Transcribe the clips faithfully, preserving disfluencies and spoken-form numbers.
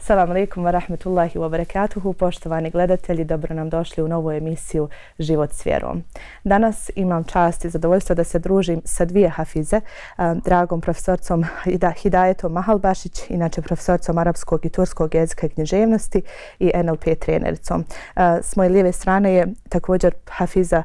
Assalamu alaikum wa rahmetullahi wa barakatuhu. Poštovani gledatelji, dobro nam došli u novu emisiju Život s vjerom. Danas imam čast i zadovoljstvo da se družim sa dvije hafize, dragom profesorcom Hidajetom Mahalbašić, inače profesorcom arapskog i turskog jezika i književnosti i N L P trenericom. S moje lijeve strane je također hafiza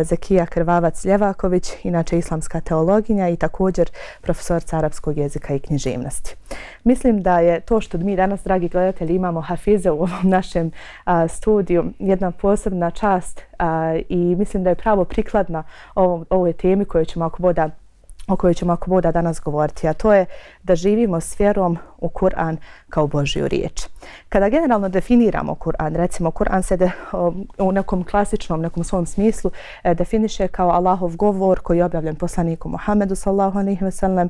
Zekija Krvavac-Ljevaković, inače islamska teologinja i također profesorca arapskog jezika i književnosti. Mislim da je to što mi danas, dragi gledatelji, imamo hafize u ovom našem a, studiju jedna posebna čast a, i mislim da je pravo prikladna ovom, ovoj temi koju ćemo ako boda o kojoj ćemo ako boda danas govoriti, a to je da živimo s vjerom u Kur'an kao Božju riječ. Kada generalno definiramo Kur'an, recimo Kur'an se de, u nekom klasičnom, nekom svom smislu e, definiše kao Allahov govor koji je objavljen poslaniku Muhammedu sallallahu alejhi ve sellem,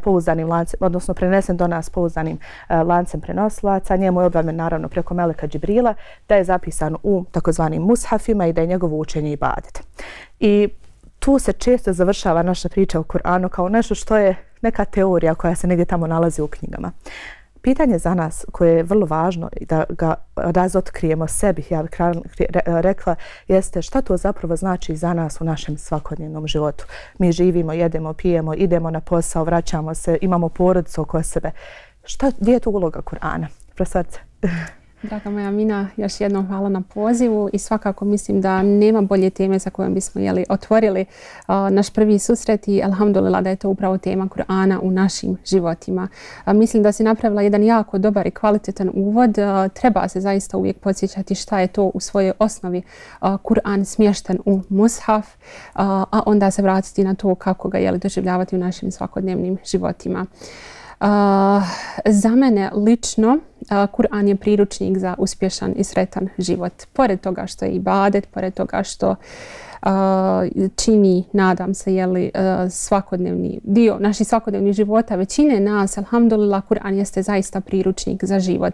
pouzdanim lancem, odnosno prenesen do nas pouzdanim e, lancem prenosilaca. Njemu je objavljen naravno preko meleka Džibrila, da je zapisan u takozvanim mushafima i da je njegovo učenje ibadet. I tu se često završava naša priča o Kur'anu kao nešto što je neka teorija koja se negdje tamo nalazi u knjigama. Pitanje za nas koje je vrlo važno da ga razotkrijemo sebi, ja bih rekla, jeste šta to zapravo znači za nas u našem svakodnevnom životu. Mi živimo, jedemo, pijemo, idemo na posao, vraćamo se, imamo porodicu oko sebe. Šta, gdje je tu uloga Kur'ana? Profesorice. Draga moja Mina, još jednom hvala na pozivu i svakako mislim da nema bolje teme za kojom bismo jeli, otvorili uh, naš prvi susret i alhamdulillah da je to upravo tema Kur'ana u našim životima. Uh, mislim da si napravila jedan jako dobar i kvalitetan uvod. Uh, treba se zaista uvijek podsjećati šta je to u svojoj osnovi uh, Kur'an smješten u mushaf, uh, a onda se vratiti na to kako ga jeli, doživljavati u našim svakodnevnim životima. Uh, za mene lično uh, Kur'an je priručnik za uspješan i sretan život. Pored toga što je ibadet, pored toga što uh, čini, nadam se, jeli, uh, svakodnevni dio naših svakodnevnih života, većine nas, alhamdulillah, Kur'an jeste zaista priručnik za život.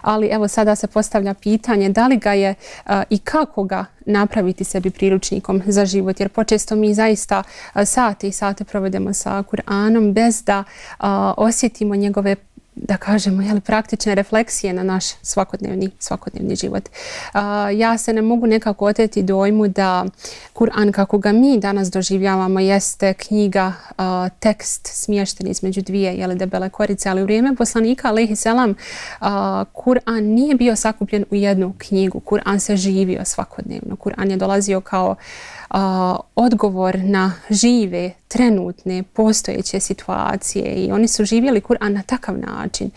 Ali evo sada se postavlja pitanje da li ga je uh, i kako ga napraviti sebi priručnikom za život, jer počesto mi zaista uh, sate i sate provedemo sa Kur'anom bez da uh, osjetimo njegove, da kažemo, jeli, praktične refleksije na naš svakodnevni, svakodnevni život. Uh, ja se ne mogu nekako oteti dojmu da Kur'an kako ga mi danas doživljavamo jeste knjiga, uh, tekst smješten između dvije jeli, debele korice, ali u vrijeme poslanika alejhi selam uh, Kur'an nije bio sakupljen u jednu knjigu. Kur'an se živio svakodnevno. Kur'an je dolazio kao Uh, odgovor na žive, trenutne, postojeće situacije i oni su živjeli Kur'an na takav način.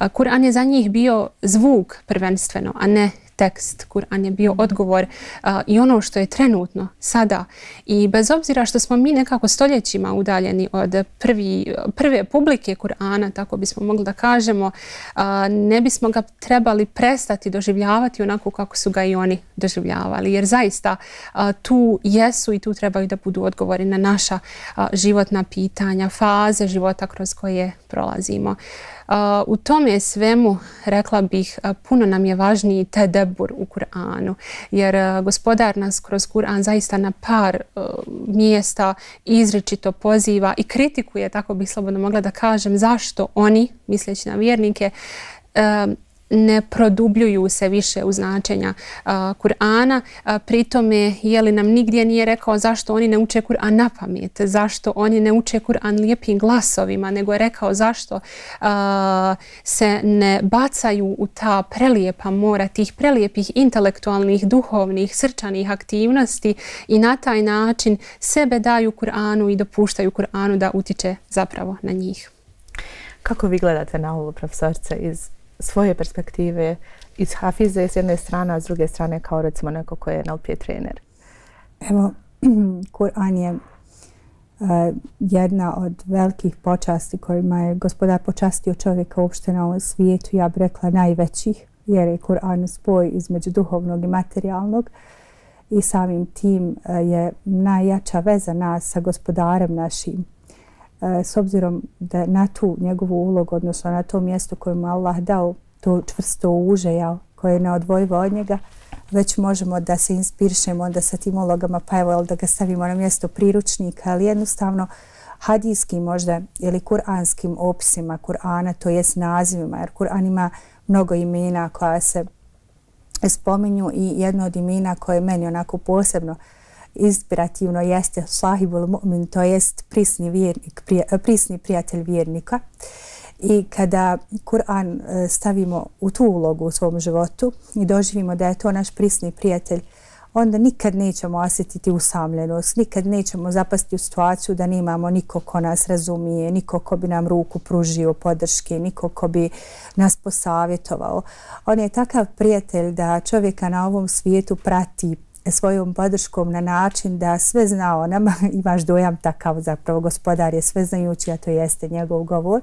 Uh, Kur'an je za njih bio zvuk prvenstveno, a ne tekst. Kur'an je bio odgovor uh, i ono što je trenutno sada. I bez obzira što smo mi nekako stoljećima udaljeni od prvi, prve publike Kur'ana, tako bismo mogli da kažemo, uh, ne bismo ga trebali prestati doživljavati onako kako su ga i oni doživljavali. Jer zaista uh, tu jesu i tu trebaju da budu odgovori na naša uh, životna pitanja, faze života kroz koje prolazimo. Uh, u tome svemu, rekla bih, uh, puno nam je važniji tedebur u Kur'anu, jer uh, gospodar nas kroz Kur'an zaista na par uh, mjesta izričito poziva i kritikuje, tako bih slobodno mogla da kažem, zašto oni, misleći na vjernike, uh, ne produbljuju se više u značenja uh, Kur'ana. Uh, pritome, jeli nam nigdje nije rekao zašto oni ne uče Kur'an na pamet, zašto oni ne uče Kur'an lijepim glasovima, nego je rekao zašto uh, se ne bacaju u ta prelijepa mora, tih prelijepih intelektualnih, duhovnih, srčanih aktivnosti i na taj način sebe daju Kur'anu i dopuštaju Kur'anu da utiče zapravo na njih. Kako vi gledate na ovo, profesorice, iz svoje perspektive, iz hafize s jedne strane, a s druge strane kao recimo neko koji je N L P trener? Evo, Kur'an je uh, jedna od velikih počasti kojima je gospodar počastio čovjeka uopšte na ovom svijetu, ja bih rekla najvećih, jer je Kur'an spoj između duhovnog i materijalnog i samim tim uh, je najjača veza nas sa gospodarem našim. S obzirom da na tu njegovu ulogu, odnosno na to mjesto koje mu Allah dao, to čvrsto uže, jel, koje je neodvojivo od njega, već možemo da se inspirišemo onda sa tim ulogama, pa evo da ga stavimo na mjesto priručnika, ali jednostavno hadijskim možda ili kuranskim opisima Kur'ana, to jest nazivima, jer Kur'an ima mnogo imena koja se spominju i jedno od imena koje je meni onako posebno inspirativno jeste Sahibul Mu'min, to jest prisni, vjernik, prija, prisni prijatelj vjernika. I kada Kur'an stavimo u tu ulogu u svom životu i doživimo da je to naš prisni prijatelj, onda nikad nećemo osjetiti usamljenost, nikad nećemo zapasti u situaciju da nemamo niko ko nas razumije, niko ko bi nam ruku pružio podrške, niko ko bi nas posavjetovao. On je takav prijatelj da čovjeka na ovom svijetu prati svojom podrškom na način da sve zna o nama, imaš dojam takav, zapravo gospodar je sveznajući, a to jeste njegov govor.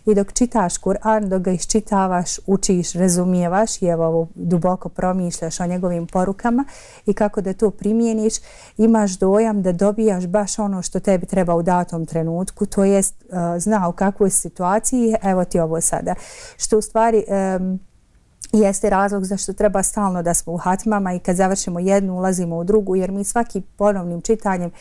I dok čitaš Kur'an, dok ga iščitavaš, učiš, razumijevaš i evo duboko promišljaš o njegovim porukama i kako da to primijeniš, imaš dojam da dobijaš baš ono što tebi treba u datom trenutku, to jest uh, zna u kakvoj situaciji, evo ti ovo sada. Što u stvari um, jeste razlog zašto treba stalno da smo u hatmama i kad završimo jednu ulazimo u drugu, jer mi svaki ponovnim čitanjem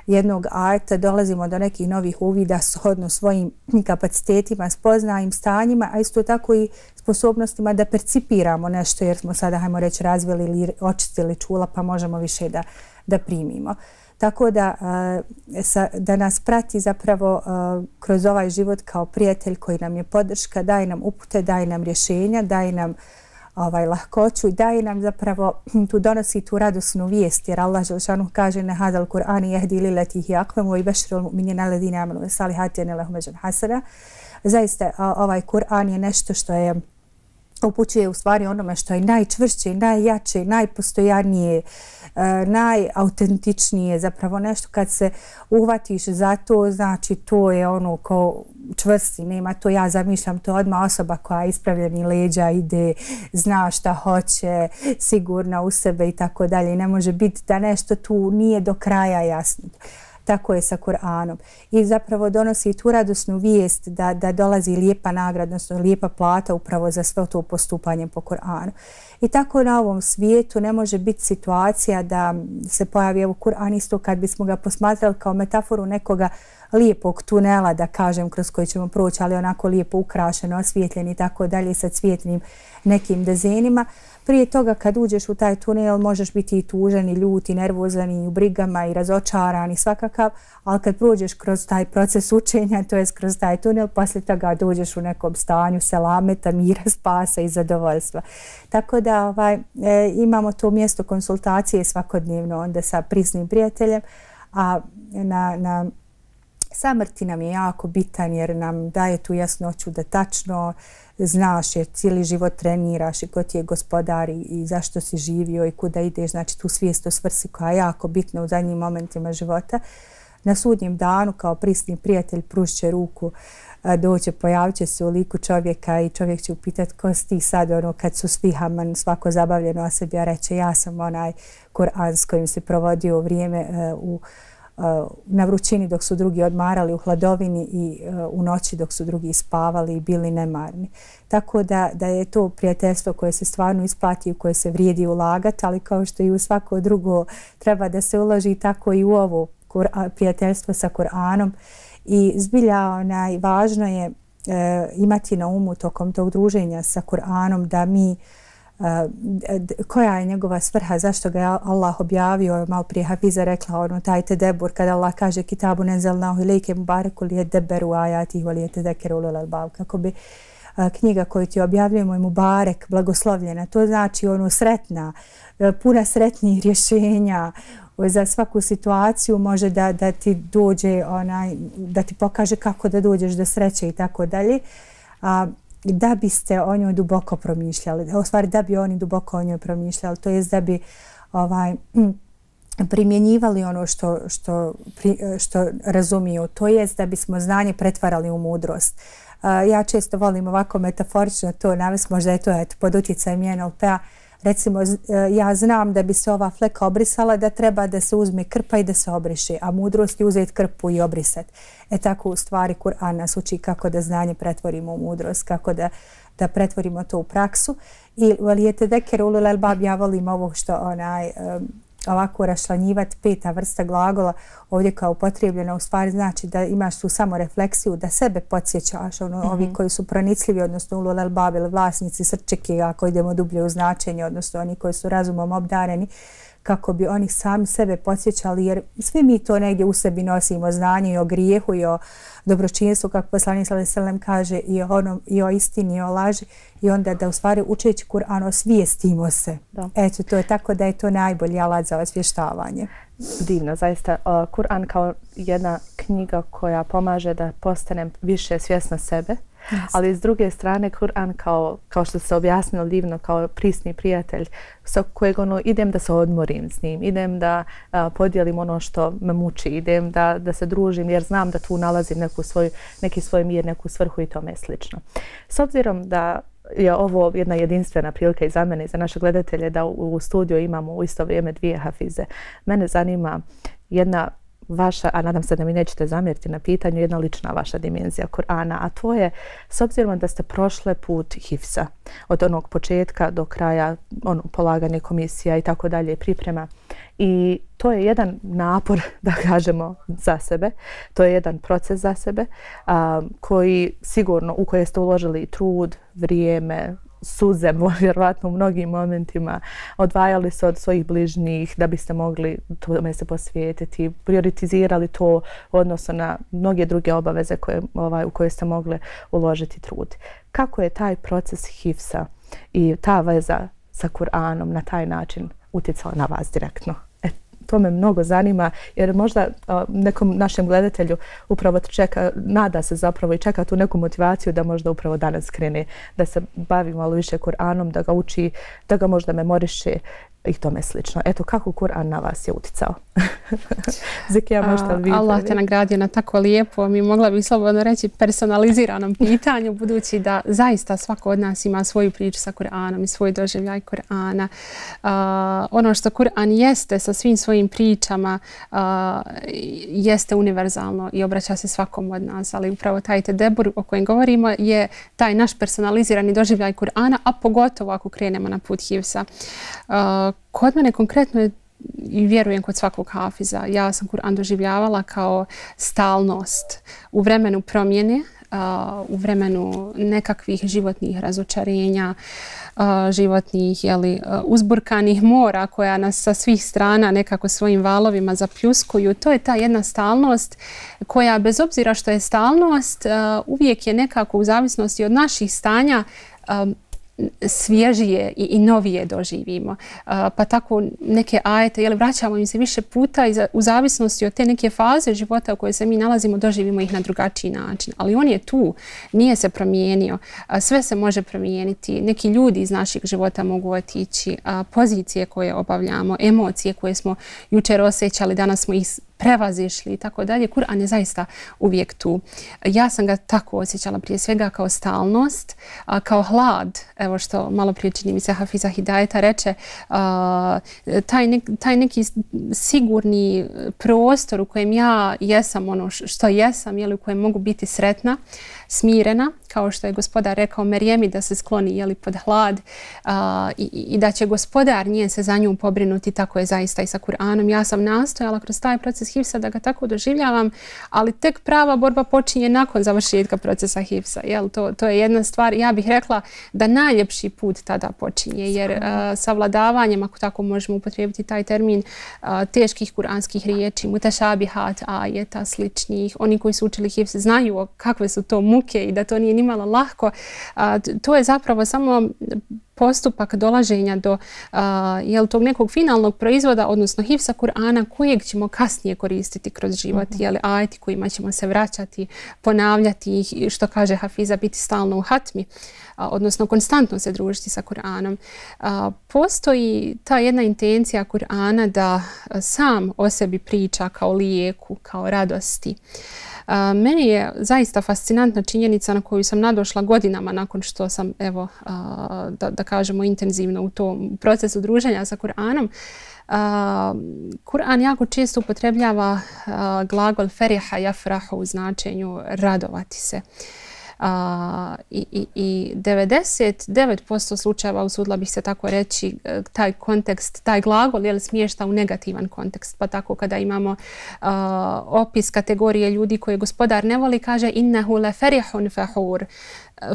jednog ajeta dolazimo do nekih novih uvida shodno svojim kapacitetima, spoznajim stanjima, a isto tako i sposobnostima da percipiramo nešto, jer smo sada, hajmo reći, razvili ili očistili čula pa možemo više da, da primimo. Tako da, da nas prati zapravo kroz ovaj život kao prijatelj koji nam je podrška, daje nam upute, daje nam rješenja, daje nam ovaj, lahkoću i daje nam zapravo, tu donosi tu radosnu vijest, jer Allah Želšanu kaže na hadal Kur'ani jehdi lilati hi akvemu i bešrul mu'minina ladine amanu ve salihati ane lahum eđan hasana. Zaista ovaj Kur'an je nešto što je upućuje u stvari onome što je najčvršće, najjače, najpostojanije, najautentičnije, zapravo nešto kad se uhvatiš za to, znači to je ono ko čvrsti, nema to, ja zamišljam to odmah osoba koja ispravljeni leđa ide, zna šta hoće, sigurna u sebe i tako dalje. Ne može biti da nešto tu nije do kraja jasno. Tako je sa Kur'anom. I zapravo donosi tu radosnu vijest da, da dolazi lijepa nagrada, odnosno lijepa plata upravo za sve to postupanje po Kur'anu. I tako na ovom svijetu ne može biti situacija da se pojavi evo Kur'an isto kad bismo ga posmatrali kao metaforu nekoga lijepog tunela, da kažem, kroz koji ćemo proći, ali onako lijepo ukrašeno, osvijetljen i tako dalje sa cvjetnim nekim dezenima. Prije toga kad uđeš u taj tunel možeš biti i tužan i ljut i nervozan i u brigama i razočaran i svakakav, ali kad prođeš kroz taj proces učenja, to je kroz taj tunel, poslije toga dođeš u nekom stanju selameta, mira, spasa i zadovoljstva. Tako da ovaj, e, imamo to mjesto konsultacije svakodnevno onda sa prisnim prijateljem, a na, na samrti nam je jako bitan jer nam daje tu jasnoću da tačno znaš jer cijeli život treniraš i ko ti je gospodar i zašto si živio i kuda ideš, znači tu svijest o svrsi koja je jako bitna u zadnjim momentima života. Na sudnjem danu kao prisni prijatelj prušće ruku, doće, pojavit će se u liku čovjeka i čovjek će upitati ko si ti sad, ono, kad su svi haman, svako zabavljeno o sebi, a reće ja sam onaj Kur'an s kojim se provodio vrijeme uh, u na vrućini dok su drugi odmarali, u hladovini i u noći dok su drugi spavali i bili nemarni. Tako da, da je to prijateljstvo koje se stvarno isplati, u koje se vrijedi ulagati, ali kao što i u svako drugo treba da se uloži, tako i u ovo prijateljstvo sa Kur'anom. I zbilja onaj, važno je e, imati na umu tokom tog druženja sa Kur'anom da mi Uh, koja je njegova svrha, zašto ga je Allah objavio. Malo prije Hafiza rekla ono taj tedebur kada Allah kaže kitabu nenzelnahu ilejke mubareku li yedebberu ajatihi wa li yetadekkeru ulul albab, kako bi uh, knjiga koju ti objavljujemo je mubarek, blagoslovljena, to znači ono sretna, uh, puna sretnih rješenja za svaku situaciju, može da, da ti dođe onaj, da ti pokaže kako da dođeš do sreće i tako dalje. Da biste o njoj duboko promišljali, u stvari da bi oni duboko o njoj promišljali, to jest da bi ovaj, primjenjivali ono što, što, što razumiju, to jest da bismo znanje pretvarali u mudrost. Ja često volim ovako metaforično to navesti, možda je to eto, pod utjecajem N L P-a. Recimo, ja znam da bi se ova fleka obrisala, da treba da se uzme krpa i da se obriše, a mudrost je uzeti krpu i obrisati. E tako u stvari Kur'an nas uči kako da znanje pretvorimo u mudrost, kako da, da pretvorimo to u praksu. I valijete deker ulul albab, ja volim ovo što onaj, ovako rašlanjivati peta vrsta glagola ovdje kao upotrijebljena u stvari znači da imaš tu samo refleksiju, da sebe podsjećaš, ono, mm-hmm. ovi koji su pronicljivi, odnosno ulul albab ili vlasnici srčeke, ako idemo dublje u značenje, odnosno oni koji su razumom obdareni, kako bi oni sami sebe podsjećali, jer svi mi to negdje u sebi nosimo, znanje i o grijehu i o dobročinstvu, kako poslanik sallallahu alejhi ve sellem kaže, i o, onom, i o istini i o laži, i onda da u stvari učeći Kur'an osvijestimo se. Da. Eto, to je tako da je to najbolji alat za osvještavanje. Divno, zaista. Kur'an kao jedna knjiga koja pomaže da postanem više svjesna sebe, yes. ali s druge strane Kur'an kao, kao što se objasnilo divno, kao prisni prijatelj sa kojeg ono, idem da se odmorim s njim, idem da a, podijelim ono što me muči, idem da, da se družim jer znam da tu nalazim neku svoj, neki svoj mir, neku svrhu i tome slično. S obzirom da je ovo jedna jedinstvena prilika i za mene i za naše gledatelje da u, u studiju imamo u isto vrijeme dvije hafize. Mene zanima jedna vaša, a nadam se da mi nećete zamjeriti na pitanju, jedna lična vaša dimenzija Kur'ana, a to je s obzirom da ste prošle put hifsa od onog početka do kraja, ono, polaganje komisija i tako dalje, priprema. I to je jedan napor, da kažemo, za sebe. To je jedan proces za sebe a, koji sigurno, u koje ste uložili trud, vrijeme, suze, vjerovatno u mnogim momentima, odvajali se od svojih bližnjih da biste mogli tome se posvijetiti, prioritizirali to odnosno na mnoge druge obaveze koje, ovaj, u koje ste mogli uložiti trud. Kako je taj proces hifsa i ta veza sa Kur'anom na taj način utjecala na vas direktno? E, to me mnogo zanima jer možda a, nekom našem gledatelju upravo čeka, nada se zapravo i čeka tu neku motivaciju da možda upravo danas krene, da se bavi malo više Kur'anom, da ga uči, da ga možda memoriše i tome slično. Eto, kako Kur'an na vas je uticao? Zikija, možete li vi? Allah te nagradio na tako lijepo, mi mogla bih slobodno reći personaliziranom pitanju, budući da zaista svako od nas ima svoju priču sa Kur'anom i svoj doživljaj Kur'ana. Uh, ono što Kur'an jeste sa svim svojim pričama uh, jeste univerzalno i obraća se svakom od nas, ali upravo taj tedebur o kojem govorimo je taj naš personalizirani doživljaj Kur'ana, a pogotovo ako krenemo na put hifsa. Uh, Kod mene konkretno je i vjerujem kod svakog hafiza. Ja sam Kur'an doživljavala kao stalnost u vremenu promjene, u vremenu nekakvih životnih razočarenja, životnih jeli, uzburkanih mora koja nas sa svih strana nekako svojim valovima zapljuskuju. To je ta jedna stalnost koja bez obzira što je stalnost uvijek je nekako u zavisnosti od naših stanja svježije i, i novije doživimo. Uh, pa tako neke ajete, jel, vraćamo im se više puta i za, u zavisnosti od te neke faze života u kojoj se mi nalazimo, doživimo ih na drugačiji način. Ali on je tu, nije se promijenio. Uh, sve se može promijeniti. Neki ljudi iz naših života mogu otići. Uh, pozicije koje obavljamo, emocije koje smo jučer osjećali, danas smo ih prevazišli i tako dalje. Kur'an je zaista uvijek tu. Ja sam ga tako osjećala prije svega kao stalnost, kao hlad, evo što malo prije čini mi se Hafiza Hidajeta reče, taj, nek, taj neki sigurni prostor u kojem ja jesam ono što jesam, jeli, u kojem mogu biti sretna, smirena, kao što je gospodar rekao Merijemi da se skloni jeli, pod hlad uh, i, i da će gospodar njen se za nju pobrinuti, tako je zaista i sa Kur'anom. Ja sam nastojala kroz taj proces hifsa da ga tako doživljavam, ali tek prava borba počinje nakon završetka procesa hifsa. Jel, to, to je jedna stvar, ja bih rekla da najljepši put tada počinje, jer uh, savladavanjem, ako tako možemo upotrijebiti taj termin, uh, teških kuranskih riječi, mutešabihat, ajeta, sličnih, oni koji su učili hifs znaju kakve su to muke i da to nije nimalo lahko. A, to je zapravo samo postupak dolaženja do a, jel, tog nekog finalnog proizvoda, odnosno hifsa Kur'ana kojeg ćemo kasnije koristiti kroz život. Mm-hmm. Jel, ajeti kojima ćemo se vraćati, ponavljati ih, što kaže Hafiza, biti stalno u hatmi, a, odnosno konstantno se družiti sa Kur'anom. A, postoji ta jedna intencija Kur'ana da sam o sebi priča kao lijeku, kao radosti. Uh, meni je zaista fascinantna činjenica na koju sam nadošla godinama nakon što sam, evo, uh, da, da kažemo, intenzivno u tom procesu druženja sa Kur'anom. Uh, Kur'an jako često upotrebljava uh, glagol feriha jafrahu u značenju radovati se. A, i, i, i devedeset devet posto slučajeva, usudila bih se tako reći, taj kontekst, taj glagol je li smješta u negativan kontekst. Pa tako kada imamo a, opis kategorije ljudi koje gospodar ne voli, kaže innehu le ferihun fahur.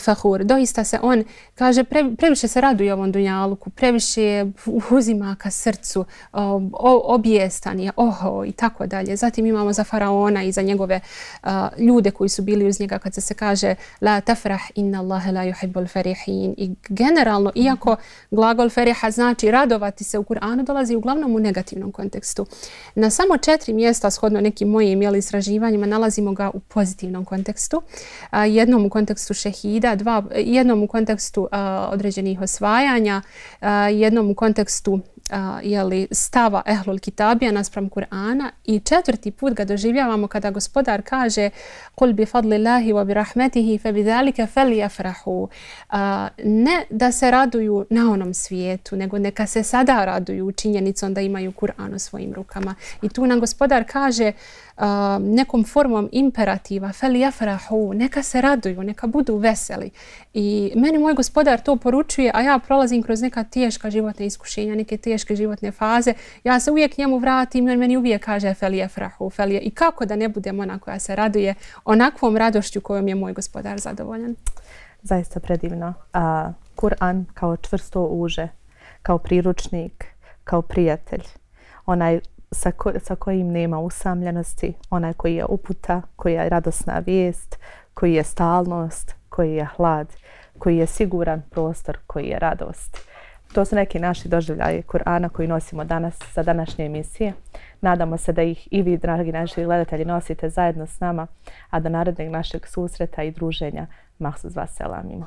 Fahur. Doista se on, kaže, pre, previše se raduje ovom dunjaluku, previše uzima ka srcu, o, objestan je, oho i tako dalje. Zatim imamo za faraona i za njegove uh, ljude koji su bili uz njega kad se se kaže la tafrah inna Allahe la yuhibbul farihin. I generalno, iako glagol feriha znači radovati se, u Kur'anu dolazi uglavnom u negativnom kontekstu. Na samo četiri mjesta, shodno nekim mojim jeli, istraživanjima, nalazimo ga u pozitivnom kontekstu. Uh, jednom u kontekstu šehida, Dva, jednom u kontekstu uh, određenih osvajanja, uh, jednom u kontekstu uh, jeli, stava ehlul kitabija naspram Kur'ana i četvrti put ga doživljavamo kada gospodar kaže kul bi fadlillahi wa bi rahmetihi fe bi zalike falyafrahu. Uh, ne da se raduju na onom svijetu, nego neka se sada raduju činjenicom da imaju Kur'an u svojim rukama. I tu nam gospodar kaže Uh, nekom formom imperativa falyafrahu, neka se raduju, neka budu veseli. I meni moj gospodar to poručuje, a ja prolazim kroz neka teška životna iskušenja, neke teške životne faze. Ja se uvijek njemu vratim, jer meni uvijek kaže falyafrahu, falya. I kako da ne budem ona koja se raduje onakvom radošću kojom je moj gospodar zadovoljan. Zaista predivno. A, Kur'an kao čvrsto uže, kao priručnik, kao prijatelj, onaj Sa, ko, sa kojim nema usamljenosti, onaj koji je uputa, koji je radosna vijest, koji je stalnost, koji je hlad, koji je siguran prostor, koji je radost. To su neki naši doživljaji Kur'ana koji nosimo danas za današnje emisije. Nadamo se da ih i vi, dragi naši gledatelji, nosite zajedno s nama, a do narednog našeg susreta i druženja mahsus vas selamimo.